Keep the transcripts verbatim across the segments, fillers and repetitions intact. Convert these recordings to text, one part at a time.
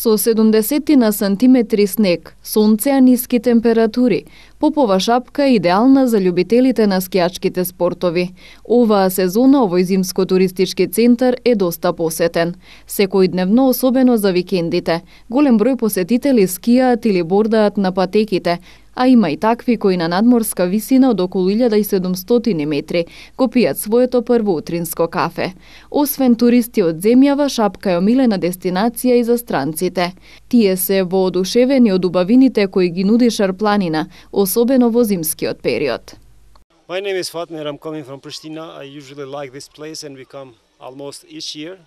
Со седумдесет на сантиметри снег, сонце, а ниски температури, Попова шапка е идеална за љубителите на скијачките спортови. Оваа сезона овој зимско-туристички центар е доста посетен. Секојдневно, особено за викендите, голем број посетители скијаат или бордаат на патеките, а има и такви кои на надморска висина од околу илјада и седумстотини метри го пијат своето прво утринско кафе. Освен туристи од земјава, шапка е омилена дестинација и за странците. Тие се воодушевени од убавините кои ги нуди Шарпланина, особено во зимскиот период. My name is Fatmir. I'm coming from Pristina. I usually like this place and we come almost each year.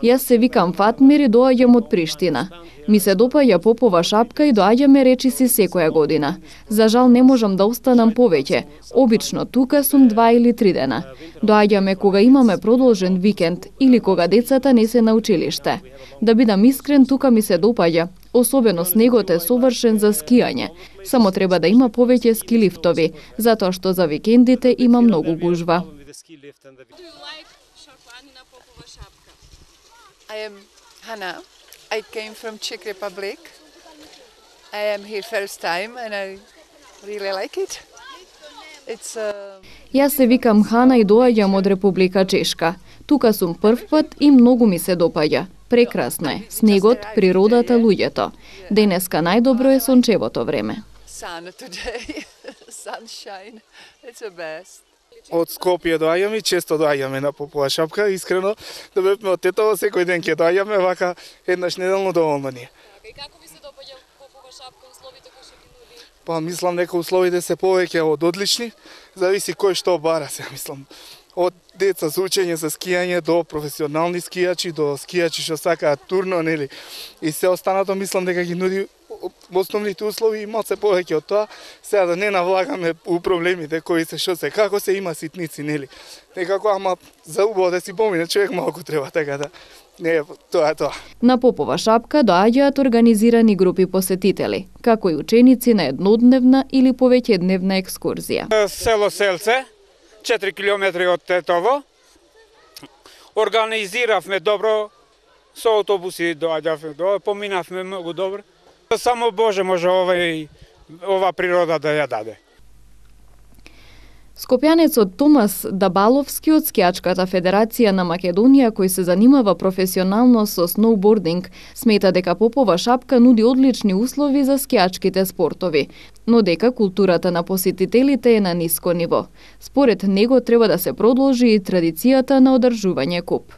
Јас се викам Фатмир и доаѓам од Приштина. Ми се допаѓа Попова шапка и доаѓаме речиси секоја година. За жал не можам да останам повеќе. Обично тука сум два или три дена. Доаѓаме кога имаме продолжен викенд или кога децата не се на училиште. Да бидам искрен, тука ми се допаѓа. Особено снегот е совршен за скијање. Само треба да има повеќе ски лифтови, затоа што за викендите има многу гужва. I am Hanna. I came from Czech Republic. I am here first time and I really like it. It's uh... Јас се викам Хана и доаѓам од Република Чешка. Тука сум прв пат и многу ми се допаѓа. Прекрасно е. Снегот, природата, луѓето. Денеска најдобро е сончевото време. Sun today. Sunshine. It's the best. Од Скопје доаѓаме и често доаѓаме на Попова шапка. Искрено, да бевме од Тетово, секој ден ќе доаѓаме, вака еднаш неделно доволно ни е. И како ви се допаѓа Попова шапка, условите кои што ги нуди? Па мислам дека условите се повеќе од одлични, зависи кој што бара се, мислам. Од деца за учење за скијање до професионални скијачи, до скијачи што сакаат турно, нели? И се останато мислам дека ги нуди основните услови и малце повеќе од тоа. Сега да не навлагаме у проблемите кои се што се, како се има ситници, нели? Некако, ама за убаво да си помине, човек малку треба, така да не, тоа е тоа. На Попова шапка доаѓаат организирани групи посетители, како и ученици на еднодневна или повеќедневна екскурзија. Село Селце, четири километри од Тетово. Организиравме добро, со автобуси доаѓавме, поминавме многу добро. Само Боже може овај, ова природа да ја даде. Скопјанецот Томас Дабаловски од Скијачката федерација на Македонија, кој се занимава професионално со сноубординг, смета дека Попова шапка нуди одлични услови за скијачките спортови, но дека културата на посетителите е на ниско ниво. Според него треба да се продолжи и традицијата на одржување куп.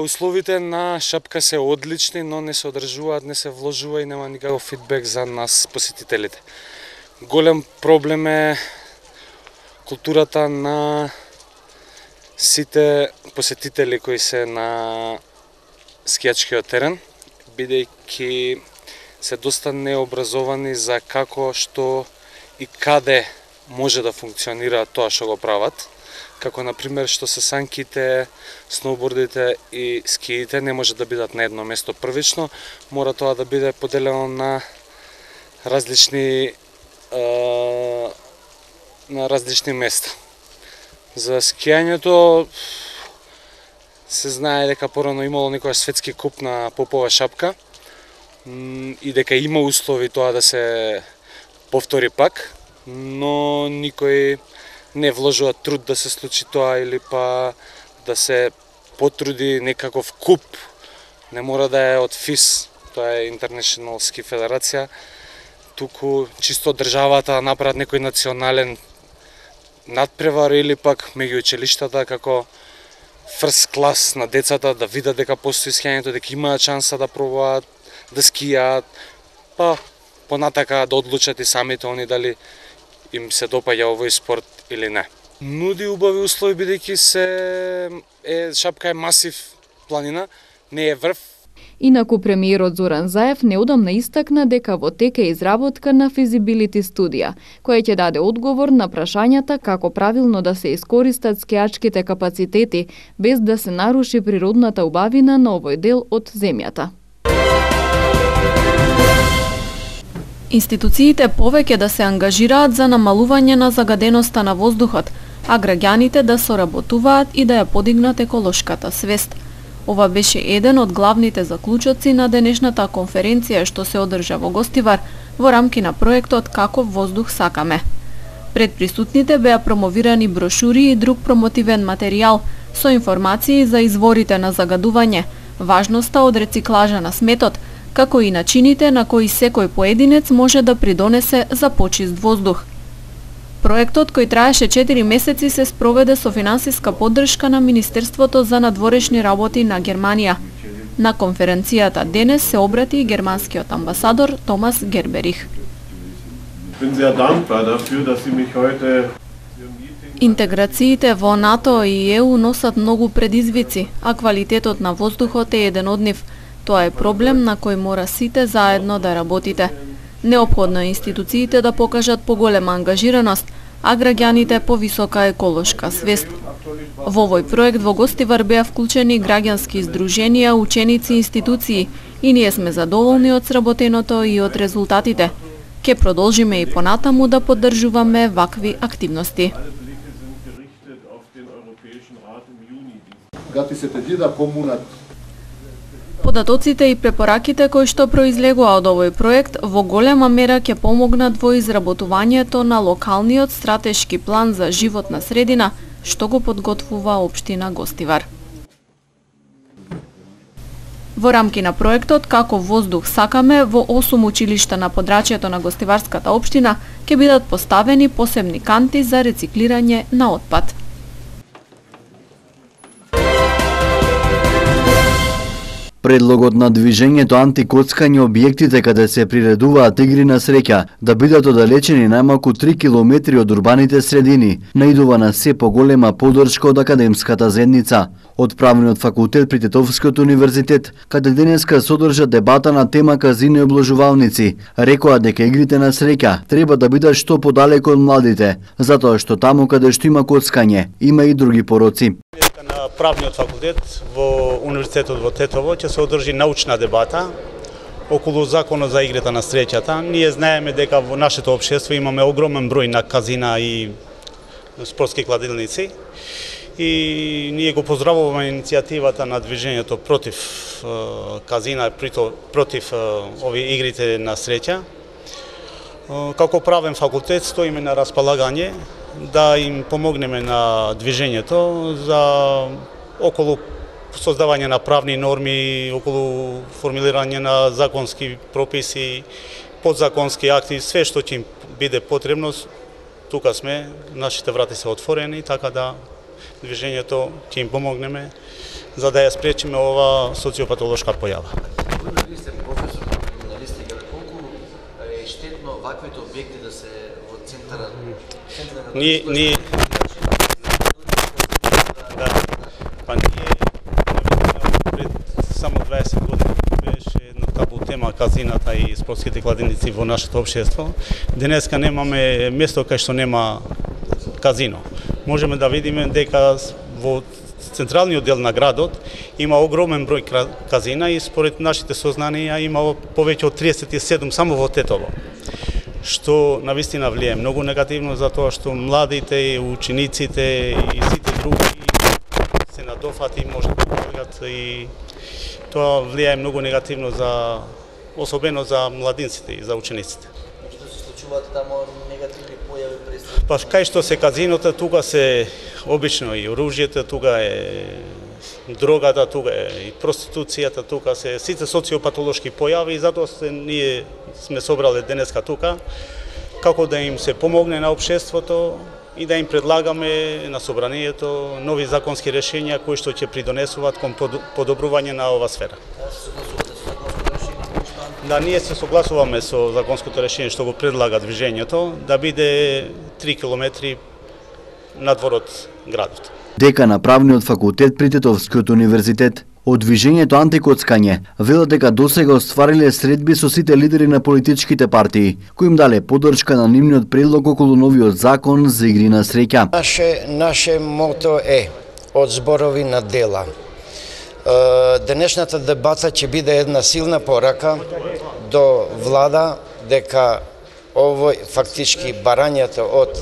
Условите на шапка се одлични, но не се одржуваат, не се вложува и нема никаков фидбек за нас посетителите. Голем проблем е културата на сите посетители кои се на скијачкиот терен, бидејќи се доста необразовани за како, што и каде може да функционира тоа што го прават. Како, например, што се санките, сноубордите и скиите не може да бидат на едно место првично, мора тоа да биде поделено на различни е, на различни места. За скијањето се знае дека порано имало некојаш светски куп на Попова шапка и дека има услови тоа да се повтори пак, но никој не вложува труд да се случи тоа или па да се потруди некаков куп. Не мора да е од ФИС, тоа е International Ski Федерација, туку чисто државата направат некој национален надпревар или пак меѓу училиштата како фрст клас на децата да видат дека постои скијањето, дека имаат шанса да пробаат да скијаат, па понатака да одлучат и самите они дали им се допаѓа овој спорт или не. Нуди убави услови бидејќи се е шапка е масив планина, не е врв. Инаку премиерот Зоран Заев неодамна истакна дека во тек е изработка на физибилити студија, која ќе даде одговор на прашањата како правилно да се искористат скијачките капацитети без да се наруши природната убавина на овој дел од земјата. Институциите повеќе да се ангажираат за намалување на загаденоста на воздухот, а граѓаните да соработуваат и да ја подигнат еколошката свест. Ова беше еден од главните заклучоци на денешната конференција што се одржа во Гостивар во рамки на проектот Каков воздух сакаме. Пред присутните беа промовирани брошури и друг промотивен материјал со информации за изворите на загадување, важноста од рециклажа на сметот, како и начините на кои секој поединец може да придонесе за почист воздух. Проектот, кој траеше четири месеци, се спроведе со финансиска поддршка на Министерството за надворешни работи на Германија. На конференцијата денес се обрати и германскиот амбасадор Томас Герберих. Интеграциите во НАТО и Е У носат многу предизвици, а квалитетот на воздухот е еден од нив. Тоа е проблем на кој мора сите заедно да работите. Неопходно е институциите да покажат поголема ангажираност, а граѓаните повисока еколошка свест. Во овој проект во Гостивар беа вклучени граѓански издруженија, ученици и институции и ние сме задоволни од сработеното и од резултатите. Ке продолжиме и понатаму да поддржуваме вакви активности. Податоците и препораките кои што произлегува од овој проект во голема мера ќе помогнат во изработувањето на локалниот стратешки план за животна средина што го подготвува општина Гостивар. Во рамки на проектот Каков воздух сакаме во осум училишта на подрачјето на Гостиварската општина ќе бидат поставени посебни канти за рециклирање на отпад. Предлогот на движењето антикоцкање објектите каде се приредуваат игри на среќа да бидат оддалечени најмалку три километри од урбаните средини наидува на се поголема поддршка од академската заедница. Од Правниот факултет при Тетовскиот универзитет, каде денеска содржа дебата на тема казино и обложувалници, рекоа дека игрите на среќа треба да бидат што подалеку од младите, затоа што таму каде што има коцкање, има и други пороци. На Правниот факултет во Универзитетот во Тетово ќе се одржи научна дебата околу законот за игрите на среќата. Ние знаеме дека во нашето општество имаме огромен број на казина и спортски кладилници и ние го поздравуваме иницијативата на движењето против казина, против овие игрите на среќа. Како правен факултет стоиме на располагање да им помогнеме на движењето за околу создавање на правни норми, околу формулирање на законски прописи, подзаконски акти, све што ќе им биде потребно. Тука сме, нашите врати се отворени, така да движењето ќе им помогнеме за да ја спречиме ова социопатолошка појава. Ваквите објекти да се во центарот. Ние ние да, па ние пред само дваесет години беше една табу тема казината и спортските кладилници во нашето општество. Денеска немаме место кај што нема казино. Можеме да видиме дека во централниот дел на градот има огромен број казина и според нашите сознанија има повеќе од триесет и седум само во Тетово, што навистина влијае многу негативно затоа што младите, учениците и сите други се надофати, може да помогат и тоа влијае многу негативно за особено за младинците и за учениците. Што се случуваат таму негативни појави пред? Па кај што се казинота, тука се обично и оружјето, тука е дрогата, тука е и проституцијата, тука се сите социопатолошки појави и затоа се ние сме собрале денеска тука како да им се помогне на општеството и да им предлагаме на собранието нови законски решенија кои што ќе придонесуваат кон подобрување на ова сфера. Да, ние се согласуваме со законското решение што го предлага движењето да биде три километри надвор од градот. Дека на Правниот факултет при Тетовскиот универзитет од движењето антикоцкање велат дека досега оствариле средби со сите лидери на политичките партии, кои им дале поддршка на нивниот предлог околу новиот закон за игри на среќа. Наше наше мото е од зборови на дела. Денешната дебата ќе биде една силна порака до влада дека овој фактички барањето од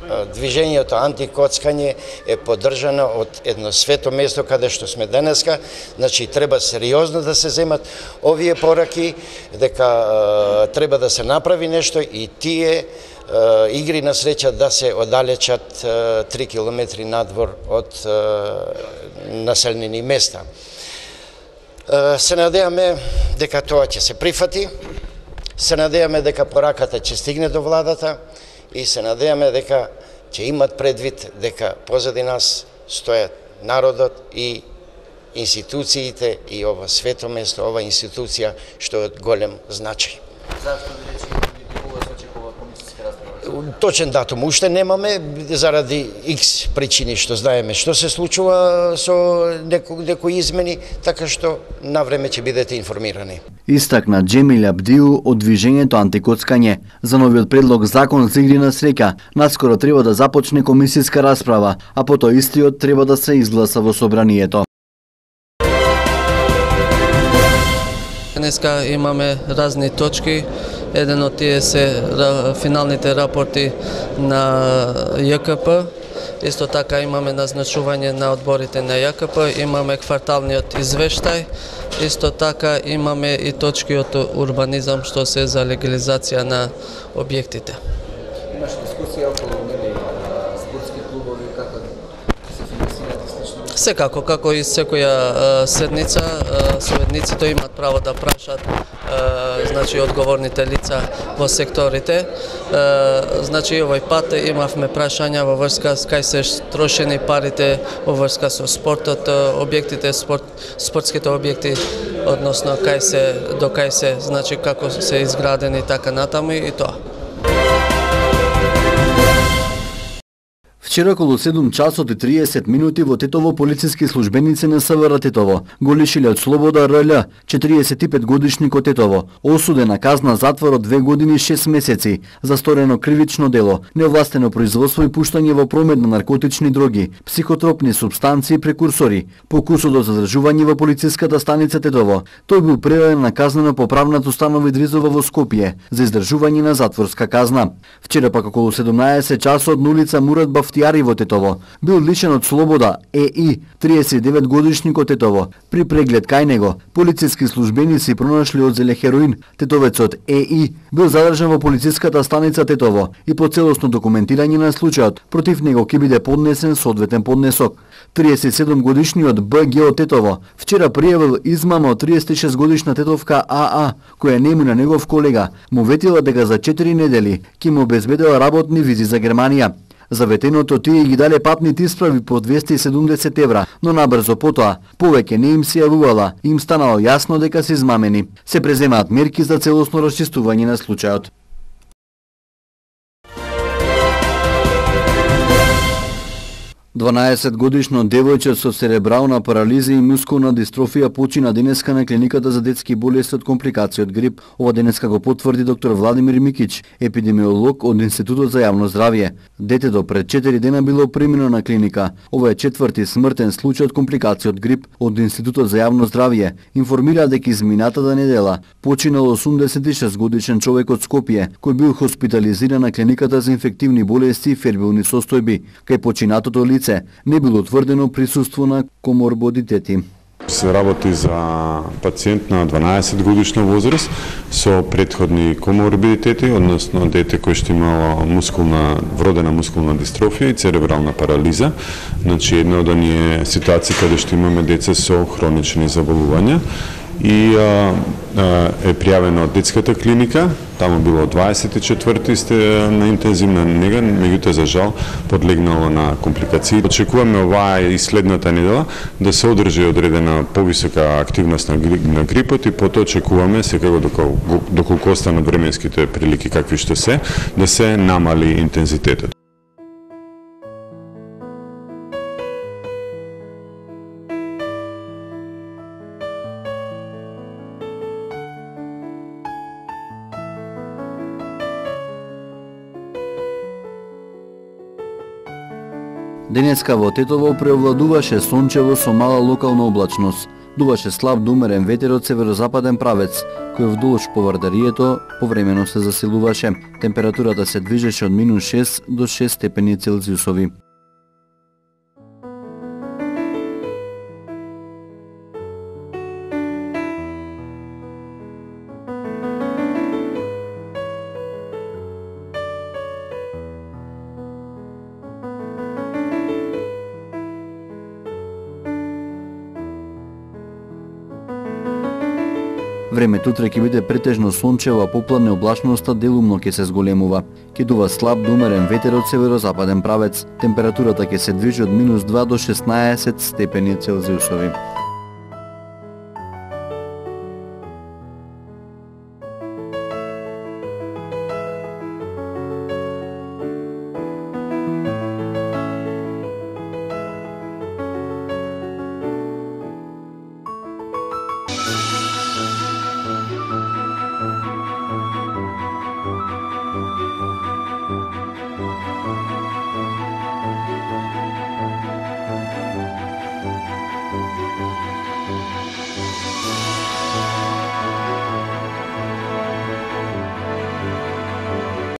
движењето антикоцкање е поддржано од едно свето место каде што сме денеска, значи треба сериозно да се земат овие пораки, дека треба да се направи нешто и тие игри на среќа да се оддалечат три километри надвор од населени места. Се надеваме дека тоа ќе се прифати, се надеваме дека пораката ќе стигне до владата и се надеваме дека ќе имат предвид дека позади нас стојат народот и институциите и ова свето место, ова институција што е од голем значај. Зашто ви речи кога се очекува комисијска расправа? Точен датум уште немаме заради X причини што знаеме што се случува со некои, некои измени, така што навреме ќе бидете информирани. Истакна Джемил Абдиу од движењето антикоцкање. За новиот предлог закон за игри на среќа наскоро треба да започне комисијска расправа, а потоа истиот треба да се изгласа во собранието. Денеска имаме разни точки. Еден од тие се финалните рапорти на Ј К П. Исто така имаме назначување на одборите на Ј К П, имаме кварталниот извештај, исто така имаме и точки од урбанизам што се за легализација на објектите. Имаш дискусија околу нели спортски клубови како се финансираат и слично? Секако, како и секоја седница, советниците имаат право да прашат значи одговорните лица во секторите. Значи овој пат имавме прашања во врска с кај се трошени парите во врска со спортот, објектите, спорт, спортските објекти, односно кај се до кај се, значи како се изградени така натаму и тоа. Вчера околу седум часот и триесет минути во Тетово полициски службеници на С В Р Тетово го лишиле од слобода Р Л, четириесет и пет годишник од Тетово, осуден на казна затвор од две години и шест месеци за сторено кривично дело, неовластено производство и пуштање во промет на наркотични дроги, психотропни супстанции и прекурсори, покусот од задржување во полициската станица Тетово. Тој бил предаден на казнено поправната установа Идризова во Скопје за издржување на затворска казна. Вчера пак околу седумнаесет часот на улица Мурат Бафтијари во Тетово бил лишен од слобода Е И, триесет и девет годишник од Тетово. При преглед кај него, полициски службеници пронашли одзеле хероин. Тетовецот Е И бил задржан во полициската станица Тетово и по целосно документирање на случајот против него ќе биде поднесен соодветен поднесок. триесет и седум годишниот Б Г од Тетово вчера пријавил измама од триесет и шест годишна тетовка А А, која нему на негов колега му ветила дека за четири недели ќе му обезбедела работни визи за Германија. За ветеното тие ги дале патните исправи по двесте и седумдесет евра, но набрзо потоа повеќе не им се јавувала, им станало јасно дека се измамени. Се преземаат мерки за целосно расчистување на случајот. дванаесет годишно девојче со церебрална парализа и мускулна дистрофија почина денеска на клиниката за детски болести од компликации од грип. Ова денеска го потврди доктор Владимир Микич, епидемиолог од Институтот за јавно здравје. Детето пред четири дена било премино на клиника. Ова е четврти смртен случај од компликации од грип. Од Институтот за јавно здравје информира дека изминатата недела починал осумдесет и шест годишен човек од Скопје, кој бил хоспитализиран на клиниката за инфективни болести и фербилни состојби. Кај починатото лице не било утврдено присуство на коморбидитети. Се работи за пациент на дванаесет годишна возраст со претходни коморбидитети, односно дете кој што имало мускулна, вродена мускулна дистрофија и церебрална парализа. Значи една од оние ситуации каде што имаме деца со хронични заболувања и а, а, е пријавено од детската клиника, таму било дваесет и четврти сте на интензивна нега, меѓутоа за жал подлегнало на компликации. Очекуваме оваа и следната недела да се одржи одредена повисока активност на, грип, на грипот и потоа очекуваме секако доколку, доколку останат временските прилики какви што се, да се намали интензитетот. Денеска во Тетово преовладуваше сончево со мала локална облачност. Дуваше слаб до умерен ветер од северозападен правец, кој вдолж поврдарието повремено се засилуваше. Температурата се движеше од минус шест до шест степени Целзиусови. Времето утре ќе биде претежно сончево, а попладне облачноста делумно ќе се зголемува. Ќе дува слаб до умерен ветер од северозападен правец. Температурата ќе се движи од минус два до шеснаесет степени Целзиусови.